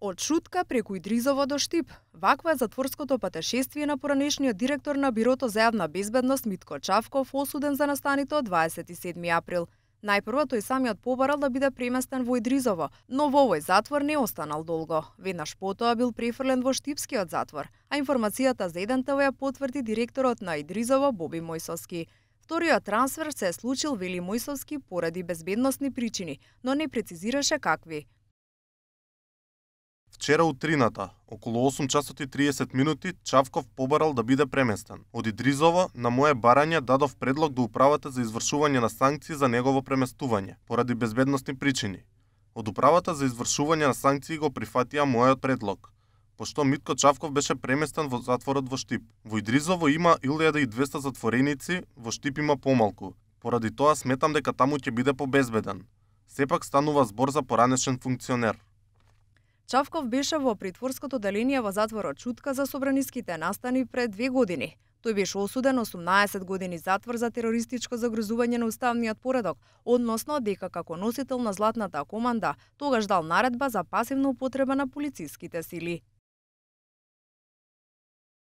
Од Шутка преку Идризово до Штип. Ваква е затворското патешествие на поранешниот директор на Бирото за јавна безбедност Митко Чавков, осуден за настаните од 27 април. Најпрво тој самиот побарал да биде преместен во Идризово, но во овој затвор не останал долго. Веднаш потоа бил префрлен во Штипскиот затвор, а информацијата за 1TV ја потврди директорот на Идризово Боби Мојсовски. Вториот трансфер се е случил, вели Мојсовски, поради безбедносни причини, но не прецизираше какви. Вчера утрината, околу 8 часот и 30 минути, Чавков побарал да биде преместен. Од Идризово, на моје барање, дадов предлог до управата за извршување на санкции за негово преместување, поради безбедносни причини. Од управата за извршување на санкции го прифатија мојот предлог, пошто Митко Чавков беше преместен во затворот во Штип. Во Идризово има 1200 затвореници, во Штип има помалку. Поради тоа сметам дека таму ќе биде побезбеден. Сепак станува збор за поранешен функционер. Чавков беше во притворското деление во затворот Шутка за собраниските настани пред 2 години. Тој беше осуден 18 години затвор за терористичко загрозување на уставниот поредок, односно дека како носител на златната команда тогаш дал наредба за пасивна употреба на полициските сили.